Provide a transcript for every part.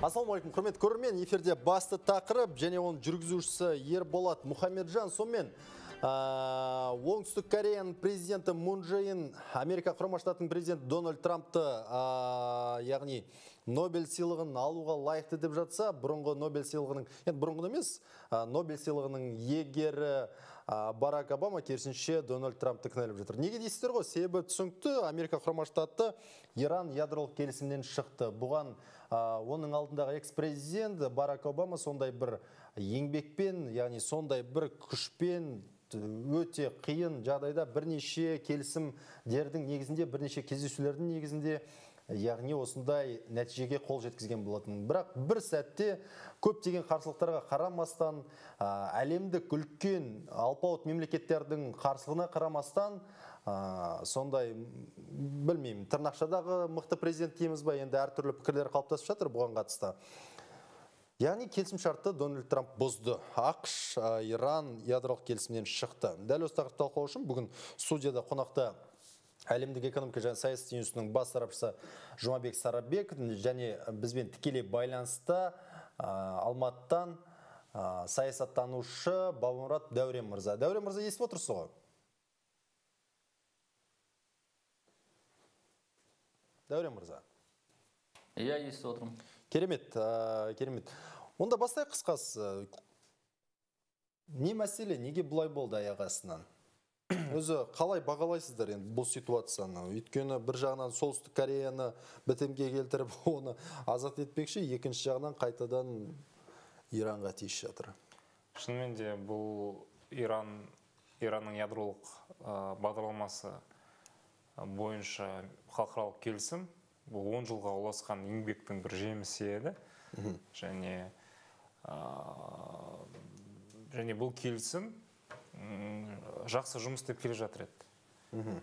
Ассалаумағалейкум, құрметті көрермен, эфирде басты тақырып және оның жүргізушісі Ерболат Мұхамеджан. Сонымен оңтүстік Кореяның президенті Мун Чже Ин, Америка Құрама Штатының президенті Дональд Трампты, яғни Нобель сыйлығын алуға лайықты деп жатса, бұрынғы Нобель сыйлығының, бұрынғы емес, Нобель сыйлығының егері Барак Обама керісінше Дональд Трампты кінәлап жатыр. Неге дейсіздер ғой? Себебі түсінікті, Америка Құрама Штаты Иран ядролық келісімнен шықты. Бұған оның алдындағы экс-президент Барак Обама сондай бір еңбекпен, яғни сондай бір күшпен өте қиын жағдайда бірнеше келісімдердің негізінде, бірнеше кездесулердің негізінде, яғни осындай нәтижеге қол жеткізген болатын. Бірақ бір сәтте көптеген қарсылықтарға қарамастан, әлемдік үлкен алпауыт мемлекеттердің қарсылығына қарамастан, сондай, білмеймін, тырнақшадағы мықты президент дейміз ба, енді әртүрлі пікірлер қалыптасып жатыр бұған қатысты. Яғни келісімшартты Дональд Трамп бұзды. ақш Иран ядролық келісімнен шықты. Дәл осы тақырыпты талқылау үшін бүгін студияда қонақта әлемдік экономика және саясат институтының бас сарапшысы Жұмабек Сарабек және бізбен тікелей байланыста Алматыдан саясаттанушы Бабамұрат Дәурен мырза. Дәурен мырза, естіп отырсыз ғой? Дәурен мырза. Иә, естіп отырмын. Керемет, керемет. Онда бастайық қысқасы. Не мәселе, неге бұлай болды аяқ астынан? Өзі қалай бағалайсыздар енді бұл ситуацияны? Өйткені бір жағынан Солтүстік Кореяны бітімге келтіріп, оны азат етпекші, екінші жағынан қайтадан Иранға тиісіп жатыр. Шынымен де бұл Иранның ядролық бағдарламасы бойынша халықаралық келісім, бұл 10 жылға ұласқан еңбектің бір жемісі еді. Және бұл келісім жақсы жұмыс істеп келе жатыр еді.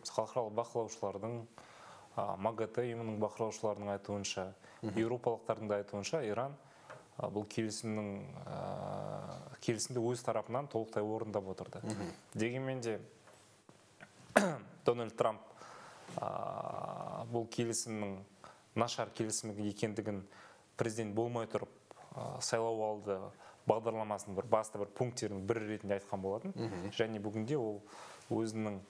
Халықаралық бақылаушылардың, МАГАТЭ ұйымының бақылаушыларының айтуынша, еуропалықтардың да айтуынша, Иран бұл келісімді өз тарапынан толықтай орындап отырды. Дегенмен де Дональд Трамп бұл келісімнің нашар келісім екендігін президент болмай тұрып сайлау алды бағдарламасының бір басты бір пункттерінің бірі ретінде айтқан болатын. Және бүгінде ол өзінің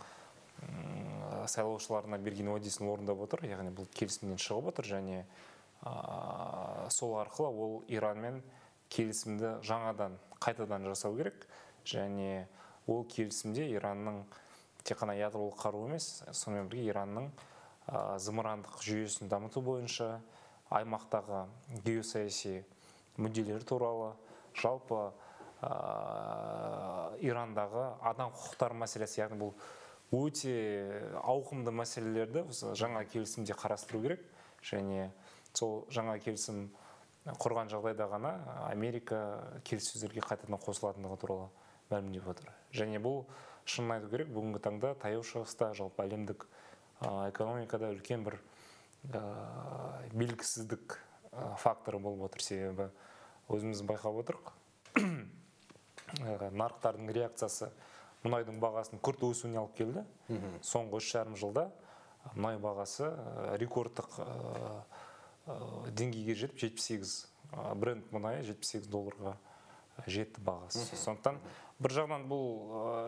сайлаушыларына берген уәдесін орындап отыр, яғни бұл келісімнен шығып отыр, және сол арқылы ол Иранмен келісімді жаңадан қайтадан жасау керек, және ол келісімде Иранның тек қана ядролық қару емес, сонымен бірге Иранның зымырандық жүйесін дамыту бойынша, аймақтағы геосаяси мүдделері туралы, жалпы Ирандағы адам құқықтары мәселесі, яғни бұл өте ауқымды мәселелерді жаңа келісімде қарастыру керек, және сол жаңа келісім құрған жағдайда ғана Америка келіссөздерге қайтадан қосылатындығы туралы мәлімдеп отыр. Және бұл шынын айту керек, бүгінгі таңда таяу шығыста, жалпы әлемдік экономикада үлкен бір белгісіздік факторы болып отыр. Себебі өзіміз байқап отырық, нарықтардың реакциясы мұнайдың бағасының күрт өсуіне алып келді. Соңғы 3,5 жылда мұнай бағасы рекордтық деңгейге жетіп, 78, бренд мұнайы $78 жетті бағасы. Сондықтан бір жағынан бұл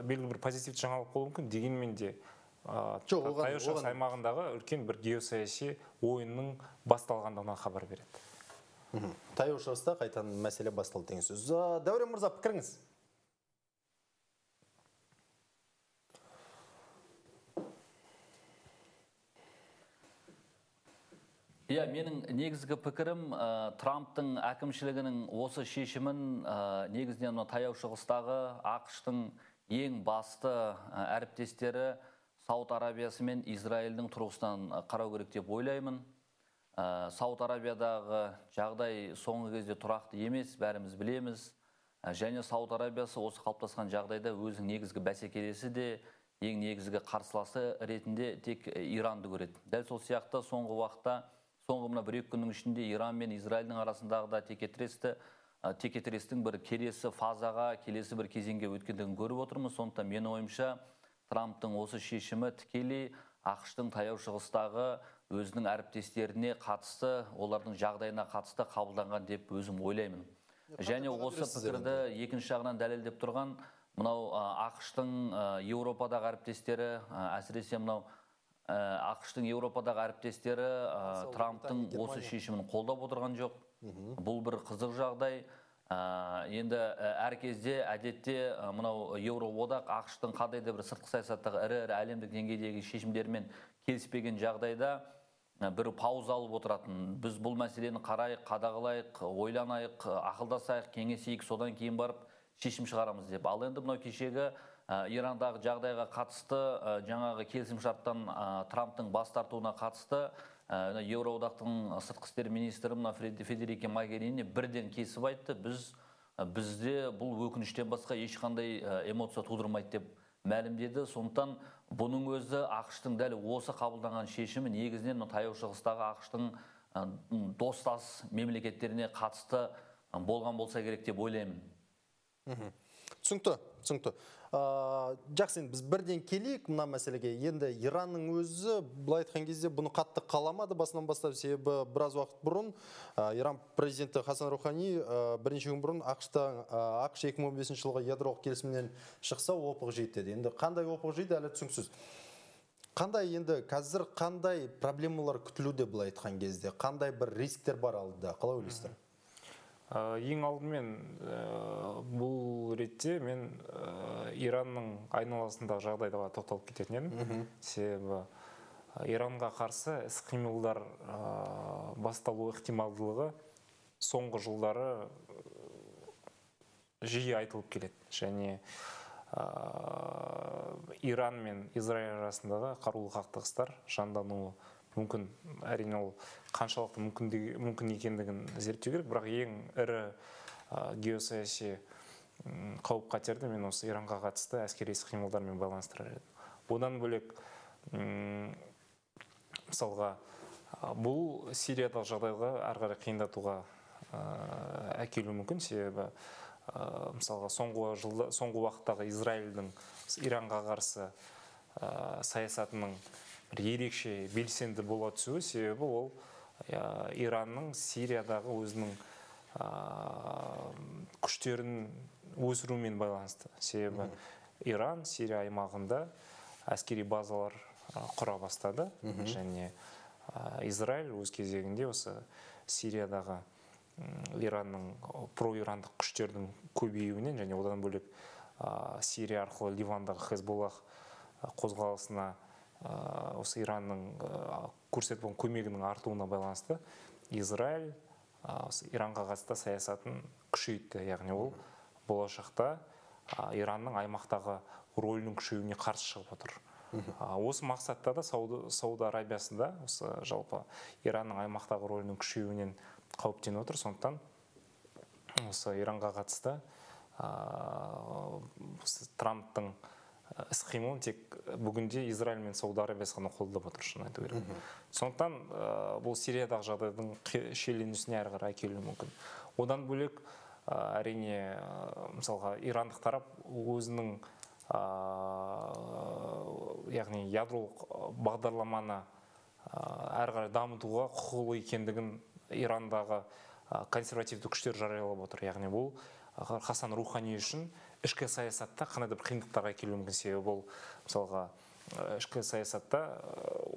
белгілі бір позитивті жаңалық болуы мүмкін, дегенмен де таяу шығыс аймағындағы үлкен бір геосаяси ойынның басталғандығынан хабар береді. Таяу шығыста қайтадан мәселе басталды деген сөз. Дәурен мырза, пікіріңіз? Иә, менің негізгі пікірім, Трамптың әкімшілігінің осы шешімін негізінен таяу шығыстағы ақш-тың ең басты әріптестері Сауд Арабиясы мен Израильдің тұрғысынан қарау керек деп ойлаймын. Сауд Арабиядағы жағдай соңғы кезде тұрақты емес, бәріміз білеміз. Және Сауд Арабиясы осы қалыптасқан жағдайда өзінің негізгі бәсекелесі де, ең негізгі қарсыласы ретінде тек Иранды көреді. Дәл сол сияқты соңғы уақытта, соңғы мына 1-2 күннің ішінде Иран мен Израильдің арасындағы да текетірестің бір келесі фазаға, келесі бір кезеңге өткендігін көріп отырмыз. Сондықтан менің ойымша Трамптың осы шешімі тікелей ақш-тың таяу шығыстағы өзінің әріптестеріне қатысты, олардың жағдайына қатысты қабылданған деп өзім ойлаймын. Және осы пікірді екінші жағынан дәлелдеп тұрған мынау ақш-тың Еуропадағы әріптестері, әсіресе мынау ақш-тың Еуропадағы әріптестері Трамптың осы шешімін қолдап отырған жоқ. Бұл бір қызық жағдай. Енді әр кезде әдетте мынау Еуроодақ ақш-тың қандай да бір сыртқы саясаттағы ірі әлемдік деңгейдегі шешімдермен келіспеген жағдайда бір пауза алып отыратын. Біз бұл мәселені қарайық, қадағалайық, ойланайық, ақылдасайық, кеңесейік, содан кейін барып шешім шығарамыз деп. Ал енді мынау кешегі Ирандағы жағдайға қатысты, жаңағы келісімшарттан Трамптың бас тартуына қатысты Еуроодақтың сыртқы істер министрі Федерике Могерини бірден кесіп айтты. Бізде бұл өкініштен басқа ешқандай эмоция тудырмайды деп мәлімдеді. Сондықтан бұның өзі ақш-тың дәл осы қабылданған шешімі негізінен таяу шығыстағы ақш-тың достас мемлекеттеріне қатысты болған болса керек деп ойлаймын. Түсінікті. Жақсы, біз бірден келейік мына мәселеге. Енді Иранның өзі былай айтқан кезде бұны қатты қаламады басынан бастап, себебі біраз уақыт бұрын Иран президенті Хасан Рухани бірнеше күн бұрын ақш 2015 жылғы ядролық келісімнен шықса опық жейді деді. Енді қандай опық жейді әлі түсініксіз. Қазір қандай проблемалар күтілуде былай айтқан кезде? Қандай бір рисктер бар алдыда? Қалай ойлайсыздар? Ең алдымен бұл ретте мен Иранның айналасындағы жағдайға тоқталып кететін едім. Себебі Иранға қарсы іс-қимылдар басталу ықтималдылығы соңғы жылдары жиі айтылып келеді. Және Иран мен Израиль арасындағы қарулы қақтығыстар жандануы мүмкін. Әрине ол қаншалықты мүмкін екендігін зерттеу керек, бірақ ең ірі геосаяси қауіп қатерді мен осы Иранға қатысты әскери іс-қимылдармен байланыстырар едім. Одан бөлек мысалға бұл Сириядағы жағдайға ары қарай қиындатуға әкелуі мүмкін, себебі мысалға соңғы уақыттағы Израильдің Иранға қарсы саясатының ерекше белсенді бола түсуі, себебі ол Иранның Сириядағы өзінің күштерін өсірумен байланысты. Себебі Иран Сирия аймағында әскери базалар құра бастады, және Израиль өз кезегінде осы Сириядағы Иранның про-ирандық күштердің көбеюінен, және одан бөлек Сирия арқылы Ливандағы Хезболлах қозғалысына осы Иранның көрсетіп отырған көмегінің артуына байланысты Израиль Иранға қатысты саясатын күшейтті. Яғни ол болашақта Иранның аймақтағы рөлінің күшеюіне қарсы шығып отыр. Осы мақсатта да Сауд Арабиясында осы жалпы Иранның аймақтағы рөлінің күшеюінен қауіптеніп отыр. Сондықтан осы Иранға қатысты Трамптың іс-қимылын тек бүгінде Израиль мен Сауд Арабиясы ғана қолдап отыр, шын айту керек. Сондықтан бұл Сириядағы жағдайдың шиеленісіне әрі қарай әкелуі мүмкін. Одан бөлек әрине мысалға ирандық тарап өзінің яғни ядролық бағдарламаны әрі қарай дамытуға құқылы екендігін Ирандағы консервативті күштер жариялап отыр. Яғни бұл Хасан Рухани үшін ішкі саясатта қандай да бір қиындықтарға әкелуі мүмкін, себебі бұл мысалға ішкі саясатта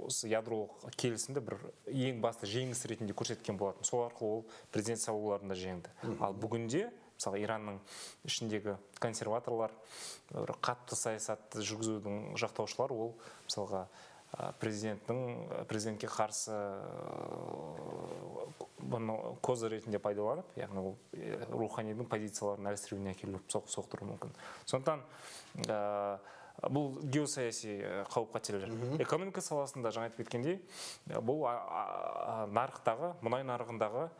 осы ядролық келісімді бір ең басты жеңіс ретінде көрсеткен болатын. Сол арқылы ол президент сайлауларында жеңді. Ал бүгінде мысалы Иранның ішіндегі консерваторлар, қатты саясатты жүргізудің жақтаушылар, ол мысалға президентке қарсы бұны козы ретінде пайдаланып, яғни ол Руханидің позицияларын әлсіреуіне әкеліп соқтыруы мүмкін. Сондықтан бұл геосаяси қауіп қатерлер. Экономика саласында жаңа айтып кеткендей, бұл нарықтағы, мұнай нарығындағы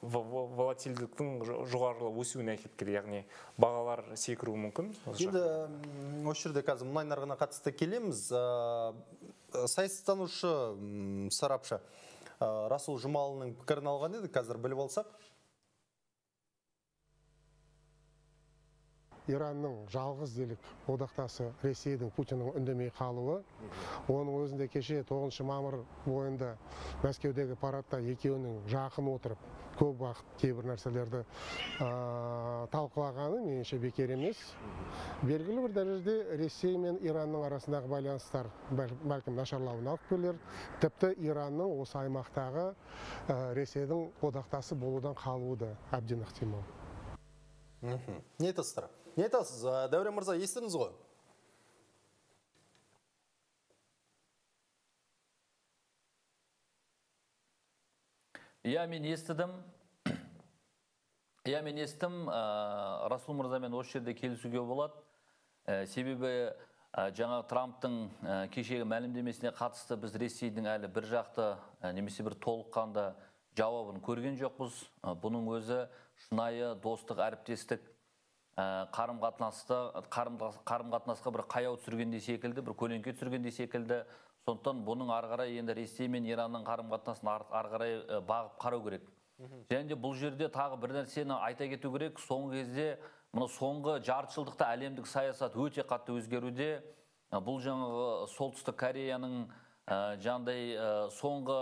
волатильдіктің жоғарылы өсуіне әкеліп келеді, яғни бағалар секіруі мүмкін. Енді осы жерде қазір мұнай нарығына қатысты келеміз. Саясаттанушы сарапшы Расул Жұмалының пікірін алған еді, қазір біліп алсақ. Иранның жалғыз делік одақтасы Ресейдің Путиннің үндемей қалуы. Оның өзінде кеше 9 мамыр бойында Мәскеудегі парадта екеуінің жақын отырып, көп уақыт кейбір нәрселерді талқылағаны меніңше бекер емес. Белгілі бір дәрежеде Ресей мен Иранның арасындағы байланыстар бәлкім нашарлауына алып келер. Тіпті Иранның осы аймақтағы Ресейдің одақтасы болудан қалуы да әбден ықтимал. Не айтасыздар? Не айтасыз? Дәурен мырза, естідіңіз ғой? Иә, мен естідім. Расул мырзамен осы жерде келісуге болады. Себебі жаңа Трамптың кешегі мәлімдемесіне қатысты біз Ресейдің әлі бір жақты немесе бір толыққанды жауабын көрген жоқпыз. Бұның өзі шынайы достық, әріптестік, қарым-қатынасқа бір қаяу түсіргенде секілді, бір көлеңке түсіргенде секілді. Сондықтан бұның арғарай енді Ресей мен Иранның қарым-қатынасын арғарай бағып қарау керек. Және де бұл жерде тағы бір нәрсені айта кету керек. Соңғы кезде, соңғы жартыжылдықта әлемдік саясат өте қатты өзгеруде. Бұл жаңағы Солтүстік Кореяның жаңағыдай соңғы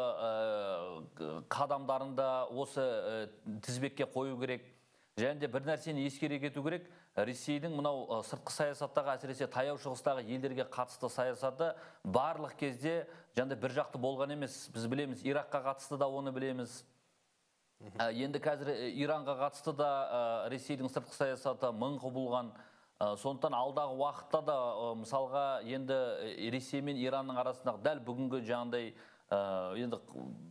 қадамдарында осы тізбекке қою керек. Және де бір нәрсені ескере кету керек. Ресейдің мынау сыртқы саясаттағы, әсіресе таяу шығыстағы елдерге қатысты саясаты барлық кезде жаңағыдай бір жақты болған емес. Біз білеміз, Иракқа қатысты да оны білеміз. Енді қазір Иранға қатысты да Ресейдің сыртқы саясаты мың құбылған. Сондықтан алдағы уақытта да мысалға енді Ресей мен Иранның арасындағы дәл бүгінгі жаңағыдай енді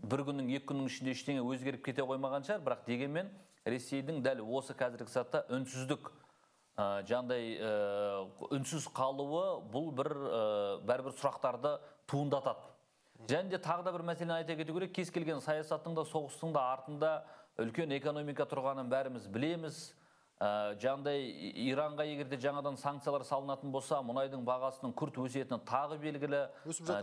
бір күннің, екі күннің ішінде ештеңе өзгеріп кете қоймаған шығар, бірақ дегенмен Ресейдің дәл осы қазіргі сәтте үнсіздік жаңағыдай үнсіз қалуы бұл бәрібір сұрақтарды туындатады. Және де тағы да бір мәселені айта кету керек, кез келген саясаттың да соғыстың да артында үлкен экономика тұрғанын бәріміз білеміз. Жаңағыдай Иранға егерде жаңадан санкциялар салынатын болса, мұнайдың бағасының күрт өсетіні тағы белгілі.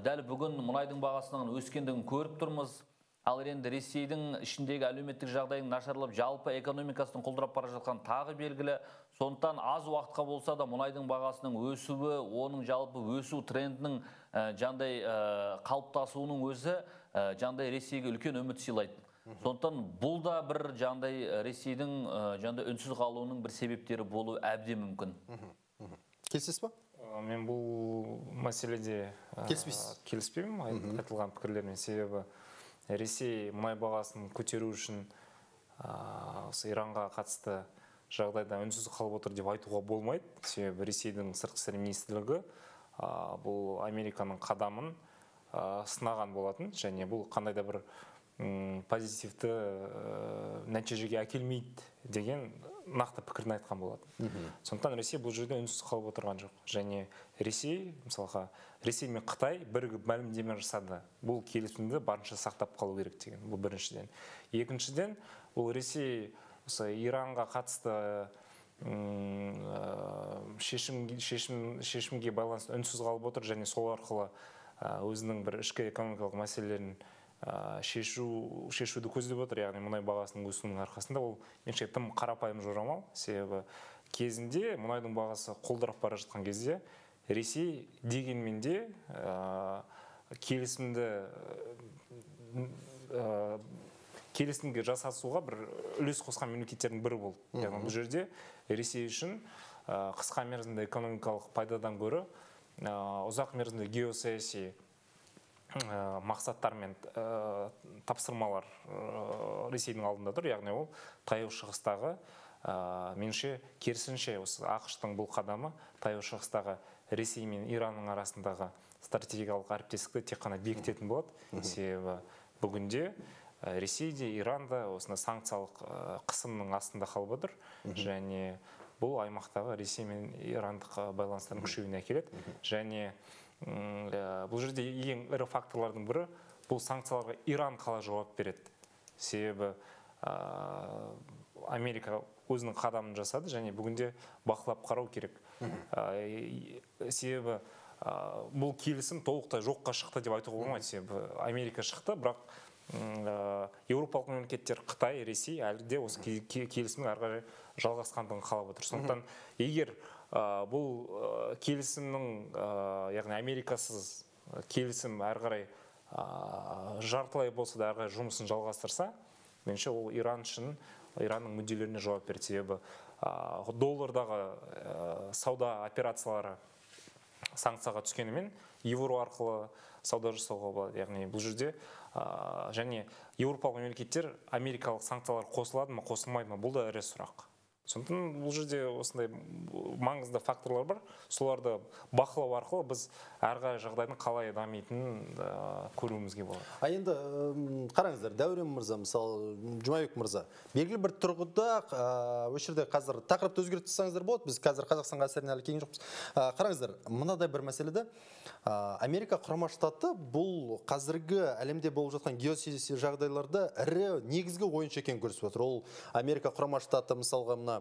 Дәл бүгін мұнайдың бағасының өскендігін көріп тұрмыз. Ал енді Ресейдің ішіндегі әлеуметтік жағдайың нашарлап, жалпы экономикасының құлдырап бара жатқан тағы белгілі. Сондықтан аз уақытқа болса да мұнайдың бағасының өсуі, оның жалпы өсу трендінің жаңағыдай қалыптасуының өзі жаңағыдай Ресейге үлкен үміт сыйлайды. Сондықтан бұл да бір жаңағыдай Ресейдің жаңағыдай үнсіз қалуының бір себептері болуы әбден мүмкін. Келісесіз ба? Мен бұл мәселеде келіспеймін айтылған пікірлермен. Себебі Ресей мұнай бағасын көтеру үшін Иранға қатысты жағдайда үнсіз қалып отыр деп айтуға болмайды. Себебі Ресейдің сыртқы істер министрлігі бұл Американың қадамын сынаған болатын, және бұл қандай да бір позитивті нәтижеге әкелмейді деген нақты пікірін айтқан болатын. Сондықтан Ресей бұл жерде үнсіз қалып отырған жоқ. Және Ресей, мысалға, Ресей мен Қытай бірігіп мәлімдеме жасады. Бұл келісімді барынша сақтап қалу керек деген. Бұл біріншіден. Екіншіден, бұл Ресей Иранға қатысты шешімге байланысты үнсіз қалып отыр, және сол арқылы өзінің бір ішкі экономикалық мәселелерін шешуді көздеп отыр, яғни мұнай бағасының өсуінің арқасында. Ол меніңше тым қарапайым жорамал. Себебі кезінде мұнайдың бағасы құлдырап бара жатқан кезде Ресей дегенмен де келісімге жасасуға бір үлес қосқан мемлекеттердің бірі болды. Яғни бұл жерде Ресей үшін қысқа мерзімді экономикалық пайдадан гөрі ұзақ мерзімді геосаяси мақсаттар мен тапсырмалар Ресейдің алдында тұр. Яғни ол таяу шығыстағы меніңше керісінше осы ақш-тың бұл қадамы таяу шығыстағы Ресей мен Иранның арасындағы стратегиялық әріптестікті тек қана бекітетін болады. Себебі бүгінде Ресей де, Иран да осында санкциялық қысымның астында қалып отыр, және бұл аймақтағы Ресей мен Ирандық байланыстардың күшеюіне әкеледі. Және бұл жерде ең ірі факторлардың бірі бұл санкцияларға Иран қалай жауап береді. Себебі Америка өзінің қадамын жасады, және бүгінде бақылап қарау керек. Себебі бұл келісім толықтай жоққа шықты деп айтуға болмайды. Себебі Америка шықты, бірақ еуропалық мемлекеттер Қытай, Ресей әлі де осы келісімнің ары қарай жалғасқандығын қалап отыр. Сондықтан егер бұл келісімнің яғни Америкасыз келісім ары қарай жартылай болса да ары қарай жұмысын жалғастырса, меніңше ол Иран үшін Иранның мүдделеріне жауап береді. Себебі доллардағы сауда операциялары санкцияға түскенімен евро арқылы сауда жасауға болады. Яғни бұл жерде және еуропалық мемлекеттер америкалық санкциялар қосылады ма, қосылмайды ма, бұл да ірі сұрақ. Сондықтан бұл жерде осындай маңызды факторлар бар. Соларды бақылау арқылы біз әрі жағдайдың қалай дамитынын көруімізге болады. Енді қараңыздар, Дәурен мырза, мысалы Жұмабек мырза, белгілі бір тұрғыда осы жерде қазір тақырыпты өзгертсеңіздер болады. Біз қазір Қазақстан әсеріне әлі келген жоқпыз. Қараңыздар, мынадай бір мәселеде Америка Құрама Штаты бұл қазіргі әлемде болып жатқан геосаяси жағдайларда ірі негізгі ойыншы екенін көрсетіп отыр. Ол Америка Құрама Штаты мысалға мына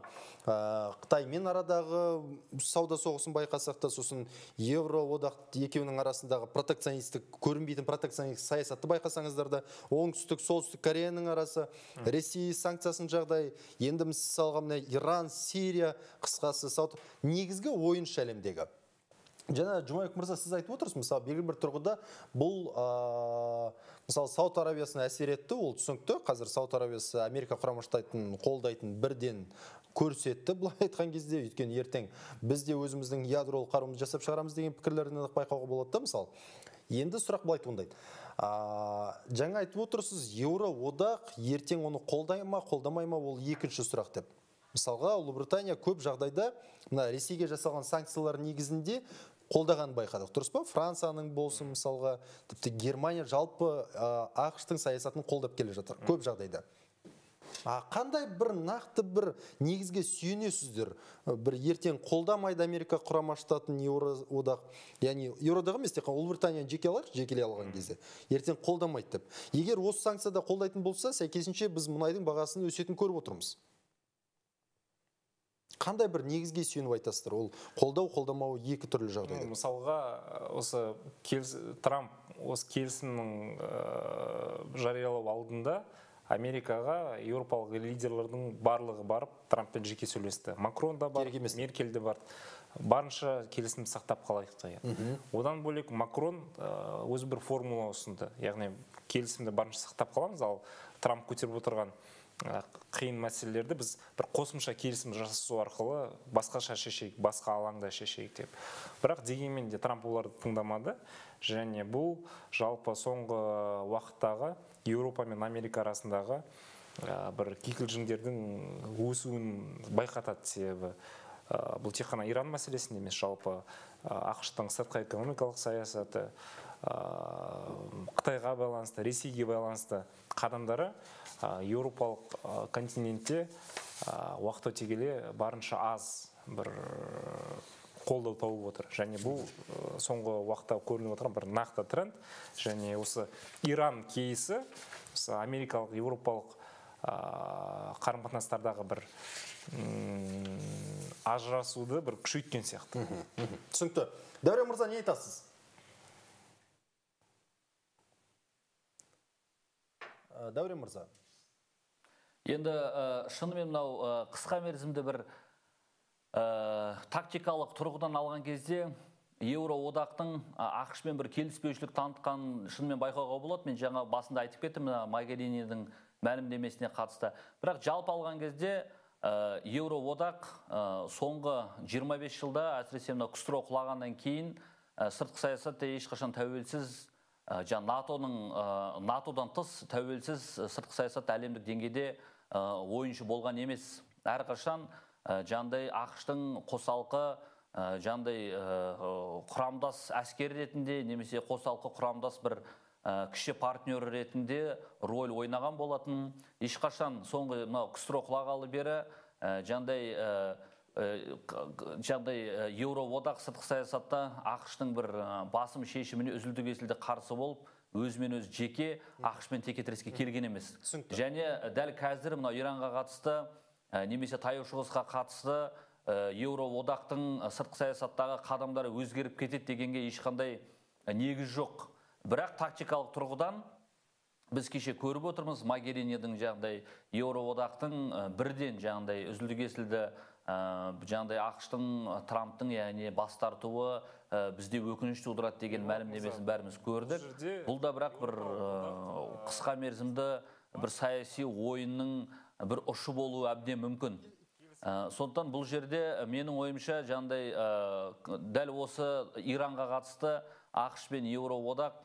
Қытаймен арадағы сауда соғысын байқасақ та, сосын Евроодақ екеуінің арасындағы протекционистік, көрінбейтін протекционистік саясатты байқасаңыздар да, оңтүстік, солтүстік Кореяның арасы, Ресей санкциясын жағдай, енді мысалға мына Иран, Сирия, қысқасы негізгі ойыншы әлемдегі. Жаңа Жұмабек мырза, сіз айтып отырсыз, мысалы белгілі бір тұрғыда бұл мысалы Сауд Арабиясына әсер етті, ол түсінікті. Қазір Сауд Арабиясы Америка Құрама Штатын қолдайтын бірден көрсетті, былай айтқан кезде, өйткені ертең біз де өзіміздің ядролық қаруымызды жасап шығарамыз деген пікірлерін байқауға болады да, мысалы. Енді сұрақ былай туындайды. Жаңа айтып отырсыз, Еуроодақ ертең оны қолдай ма, қолдамай ма, ол екінші сұрақ деп. Мысалға, Ұлыбритания көп жағдайда Ресейге жасалған санкциялар негізінде қолдаған байқадық. Дұрыс па? Францияның болсын, мысалға, тіпті Германия жалпы ақш-тың саясатын қолдап келе жатыр көп жағдайда. Қандай бір нақты бір негізге сүйенесіздер? Бір ертең қолдамайды Америка Құрама Штатын Еуроодақ, яғни Еуроодақ емес, тек Ұлыбританияны жекелей алған кезде ертең қолдамайды деп. Егер осы санкцияда қолдайтын болса, сәйкесінше біз мұнайдың бағасын өсетінін көріп отырмыз. Қандай бір негізге сүйеніп айтасыздар? Ол қолдау-қолдамауы екі түрлі жағдайда. Мысалға, осы Трамп осы келісімнің жариялау алдында Америкаға еуропалық лидерлердің барлығы барып Трамппен жеке сөйлесті. Макрон да бар, Меркель де бар. Барынша келісімді сақтап қалайық деген. Одан бөлек Макрон өзі бір формула ұсынды. Яғни келісімді барынша сақтап қаламыз, ал Трамп көтеріп отырған қиын мәселелерді біз бір қосымша келісім жасасу арқылы басқаша шешейік, басқа алаңда шешейік деп. Бірақ дегенмен де Трамп оларды тыңдамады, және бұл жалпы соңғы уақыттағы Еуропа мен Америка арасындағы бір кикілжіңдердің өсуін байқатады. Себебі бұл тек қана Иран мәселесінде емес, жалпы ақш-тың сыртқы экономикалық саясаты, Қытайға байланысты, Ресейге байланысты қадамдары еуропалық континентте уақыт өте келе барынша аз бір қолдау тауып отыр. Және бұл соңғы уақытта көрініп отырған бір нақты тренд. Және осы Иран кейсі америкалық, еуропалық қарым-қатынастардағы бір ажырасуды бір күшейткен сияқты. Түсінікті. Дәурен мырза, не айтасыз? Дәурен мырза. Енді шынымен мынау қысқа мерзімді бір тактикалық тұрғыдан алған кезде Еуроодақтың ақш-пен бір келіспеушілік танытқан шынымен байқауға болады. Мен жаңа басында айтып кеттім Могерининің мәлімдемесіне қатысты. Бірақ жалпы алған кезде Еуроодақ соңғы 25 жылда, әсіресе КСРО құлағаннан кейін сыртқы саясатта ешқашан тәуелсіз, НАТОдан тыс тәуелсіз сыртқы саясат әлемдік деңгейде ойыншы болған емес. Әрқашан жандай ақш-тың қосалқы, жандай құрамдас әскер ретінде, немесе қосалқы құрамдас бір кіші партнер ретінде роль ойнаған болатын. Ешқашан соңғы КСРО құлағалы бері жандай Еуроодақ сыртқы саясатта ақш-тың бір басым шешіміне үзілді-кесілді қарсы болып, өзімен өзі жеке ақш-пен текетіреске келген емес. Және дәл қазір Иранға қатысты, немесе Таяу Шығысқа қатысты Еуроодақтың сыртқы саясаттағы қадамдары өзгеріп кетеді дегенге ешқандай негіз жоқ. Бірақ тактикалық тұрғыдан біз кеше көріп отырмыз, Могеринидың жағдай Еуроодақтың бірден жағдай үзілді кесілді жаңағыдай ақш-тың, Трамптың яғни бас тартуы бізде өкініш тудырады деген мәлімдемесін бәріміз көрдік. Бұл да бірақ бір қысқа мерзімді бір саяси ойынның бір ұшы болуы әбден мүмкін. Сондықтан бұл жерде менің ойымша жаңағыдай дәл осы Иранға қатысты ақш пен Еуроодақ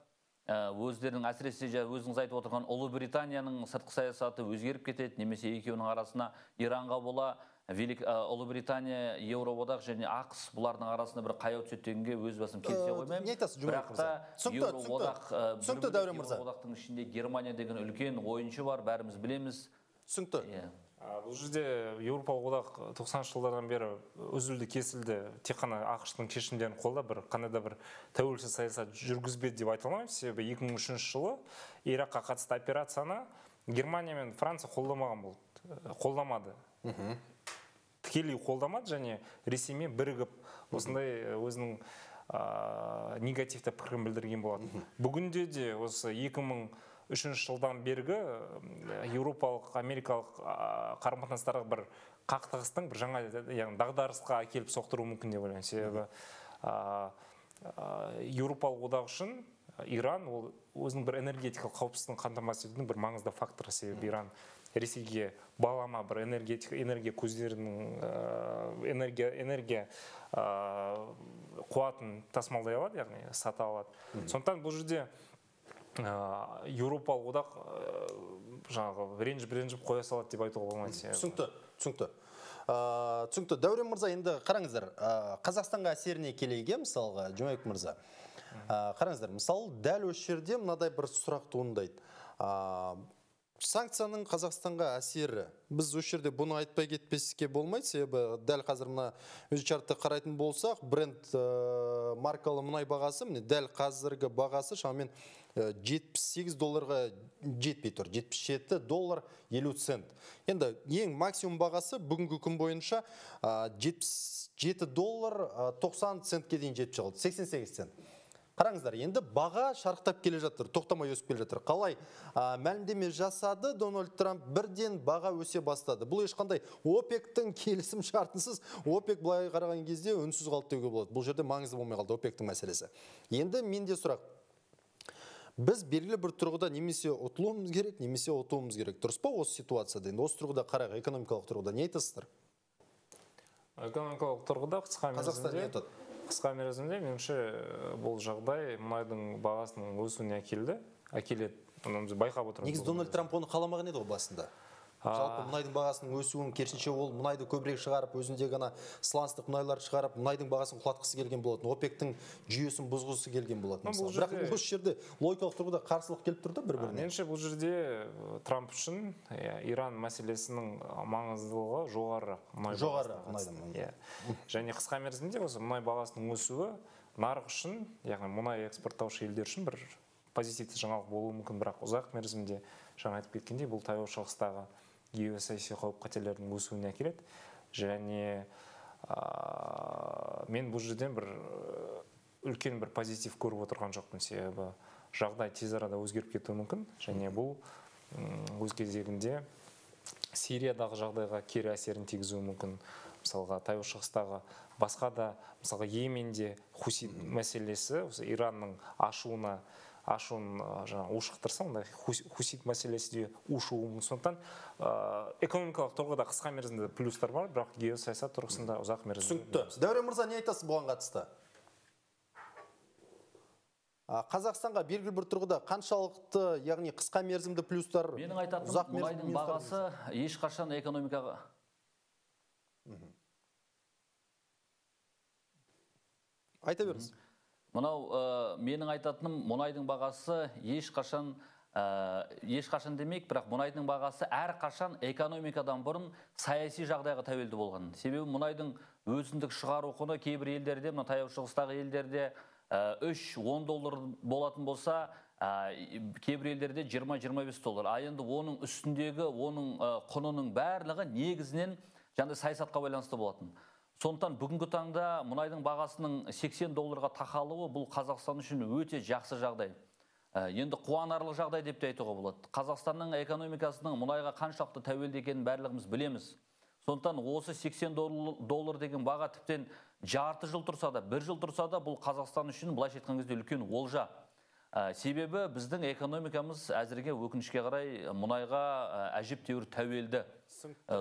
өздерінің, әсіресе өзіңіз айтып отырған Ұлыбританияның сыртқы саясаты өзгеріп кетеді, немесе екеуінің арасына Иранға бола Ұлыбритания, Еуроодақ және ақш бұлардың арасында бір қаяу түсетінге өз басым келісе қоймаймын. Не айтасыз, Жұмабек мырза? Түсінікті, Дәурен мырза. Еуроодақтың ішінде Германия деген үлкен ойыншы бар, бәріміз білеміз. Түсінікті. Бұл жерде Еуропалық одақ 90-шы жылдардан бері үзілді кесілді, тек қана ақш-тың шешімдерін қолдап, бір қандай да бір тәуелсіз саясат жүргізбеді деп айта алмаймын. Себебі 2003 жылы Иракқа қатысты операцияны Германия мен Франция қолдамады. Тікелей қолдамады және Ресеймен бірігіп осындай өзінің негативті пікірін білдірген болады. Бүгінде де осы 2003 жылдан бергі еуропалық, америкалық қарым-қатынастарға бір қақтығыстың бір жаңа дағдарысқа әкеліп соқтыруы мүмкін деп ойлаймын. Себебі еуропалық одақ үшін Иран ол өзінің бір энергетикалық қауіпсіздігін қамтамасыз етудің бір маңызды факторы. Себебі Иран Ресейге балама бір энергия көздерінің энергия қуатын тасымалдай алады, яғни сата алады. Сондықтан бұл жерде Еуропалық одақ жаңағы ренжіп қоя салады деп айтуға болмайды. Түсінікті. Дәурен мырза, енді қараңыздар, Қазақстанға әсеріне келейге, мысалға, Жұмабек мырза. Қараңыздар, мысалы, дәл осы жерде мынадай бір сұрақ туындайды. Санкцияның Қазақстанға әсері. Біз осы жерде бұны айтпай кетпеске болмайды, себебі дәл қазір мына өзі чартты қарайтын болсақ, Brent маркалы мұнай бағасы, дәл қазіргі бағасы шамамен $78 жетпей тұр, $77.50. Енді ең максимум бағасы бүгінгі күн бойынша $77.90 дейін жетіп шығылды, 88 цент. Қараңыздар, енді баға шарықтап келе жатыр, тоқтамай өсіп келе жатыр. Қалай мәлімдеме жасады Дональд Трамп, бірден баға өсе бастады. Бұл ешқандай ОПЕК-тің келісім шартынсыз, ОПЕК былай қараған кезде үнсіз қалды деуге болады. Бұл жерде маңызды болмай қалды ОПЕК-тің мәселесі. Енді менде сұрақ. Біз белгілі бір тұрғыда немесе ұтылуымыз керек, немесе ұтуымыз керек. Дұрыс па осы ситуацияда? Енді осы тұрғыда қарайық, экономикалық тұрғыда не айтасыздар? Экономикалық тұрғыда қысқа мерзімде меніңше бұл жағдай мұнайдың бағасының өсуіне әкеледі. Біз байқап отырмыз. Негізі Дональд Трамп оны қаламаған еді ғой басында. Жалпы мұнайдың бағасының өсуін керісінше ол мұнайды көбірек шығарып, өзінде ғана сланцтық мұнайлар шығарып, мұнайдың бағасын құлатқысы келген болатын, ОПЕК-тің жүйесін бұзғысы келген болатын. Бірақ осы жерде логикалық тұрғыда қарсылық келіп тұрды бір-біріне. Меніңше бұл жерде Трамп үшін Иран мәселесінің маңыздылығы жоғары мұнайдан. Және қысқа мерзімде осы мұнай бағасының өсуі нарық үшін, яғни мұнай экспорттаушы елдер үшін бір позитивті жаңалық болуы мүмкін, бірақ ұзақ мерзімде жаңа айтып кеткендей бұл таяу шығыстағы геосаяси қауіп-қатерлердің өсуіне әкеледі. Және мен бұл жерден бір үлкен бір позитив көріп отырған жоқпын, себебі жағдай тез арада өзгеріп кетуі мүмкін. Және бұл өз кезегінде Сириядағы жағдайға кері әсерін тигізуі мүмкін. Мысалға таяу шығыстағы басқа да, мысалға Йеменде хусит мәселесі Иранның ашуын ушықтырса, онда хусит мәселесі де ушуы мүмкін. Сондықтан экономикалық тұрғыда қысқа мерзімде плюстар бар, бірақ геосаясат тұрғысында ұзақ мерзімде. Түсінікті. Дәурен мырза, не айтасыз бұған қатысты? Қазақстанға белгілі бір тұрғыда қаншалықты, яғни қысқа мерзімді плюстар, менің айтатыным мұнайдың бағасы ешқашан экономикаға айта беріңіз. Менің айтатыным мұнайдың бағасы ешқашан демек, бірақ мұнайдың бағасы әрқашан экономикадан бұрын саяси жағдайға тәуелді болған. Себебі мұнайдың өзіндік шығару құны кейбір елдерде, мына таяу шығыстағы елдерде $3-10 болатын болса, кейбір елдерде $20-25. Енді оның үстіндегі, оның құнының барлығы негізінен саясатқа байланысты болатын. Сондықтан бүгінгі таңда мұнайдың бағасының $80 тақалуы бұл Қазақстан үшін өте жақсы жағдай. Енді қуанарлық жағдай деп те айтуға болады. Қазақстанның экономикасының мұнайға қаншалықты тәуелді екенін барлығымыз білеміз. Сондықтан осы 80 доллар деген баға тіптен жарты жыл тұрса да, бір жыл тұрса да, бұл Қазақстан үшін былайша айтқан кезде үлкен олжа. Себебі біздің экономикамыз әзірге өкінішке қарай мұнайға әжептәуір тәуелді.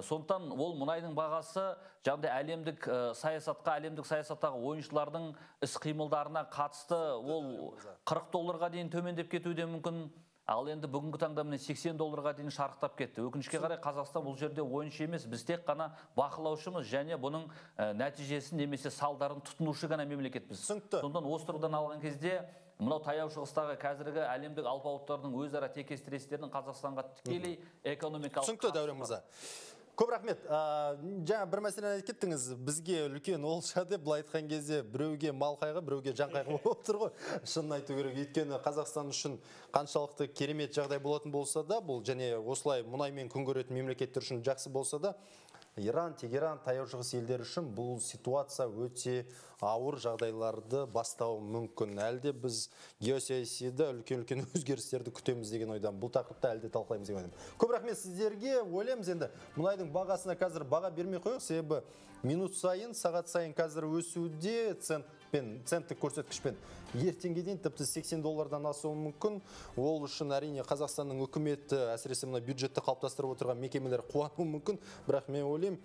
Сондықтан ол мұнайдың бағасы жаңағыдай әлемдік саясаттағы ойыншылардың іс-қимылдарына қатысты ол 40 долларға дейін төмендеп кетуі де мүмкін. Ал енді бүгінгі таңда міне 80 долларға дейін шарықтап кетті. Өкінішке қарай Қазақстан бұл жерде ойыншы емес, біз тек қана бақылаушымыз және бұның нәтижесін немесе салдарын тұтынушы ғана мемлекетпіз. Сондықтан осы тұрғыдан алған кезде мынау таяу шығыстағы қазіргі әлемдік алпауыттардың өзара текес-тірестерінің Қазақстанға тікелей экономикалық түсінікті Дәурен мырза. Көп рахмет. Жаңа бір мәселені айтып кеттіңіз, бізге үлкен олжа деп, былай айтқан кезде біреуге мал қайғы, біреуге жан қайғы болып тұр ғой. Шынын айту керек. Өйткені Қазақстан үшін қаншалықты керемет жағдай болатын болса да, бұл және осылай мұнаймен күн көретін мемлекеттер үшін жақсы болса да, Иран, Тегеран, таяу шығыс елдер үшін бұл ситуация өте ауыр жағдайларды бастауы мүмкін. Әлде біз геосаясида үлкен өзгерістерді күтеміз деген ойдан. Бұл тақырыпта әлде талқылаймыз деген ойдан. Көп рахмет сіздерге. Ойлаймыз енді мұнайдың бағасына қазір баға бермей қойық, себебі минут сайын, сағат сайын қазір өсуде, центтік көрсеткішпен ертеңге дейін тіпті 80 доллардан асуы мүмкін. Ол үшін әрине Қазақстанның үкіметі, әсіресе мына бюджетті қалыптастырып отырған мекемелер қуануы мүмкін. Бірақ мен ойлаймын,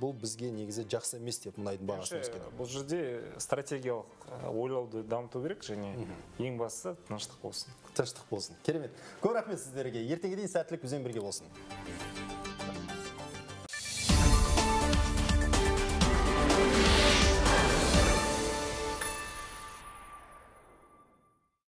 бұл бізге негізі жақсы емес деп мұнайдың бағасын өскені. Бұл жерде стратегиялық ойлауды дамыту керек және ең бастысы тыныштық болсын. Тыныштық болсын. Керемет. Көп рахмет сіздерге. Ертеңге дейін сәттілік бізбен бірге болсын.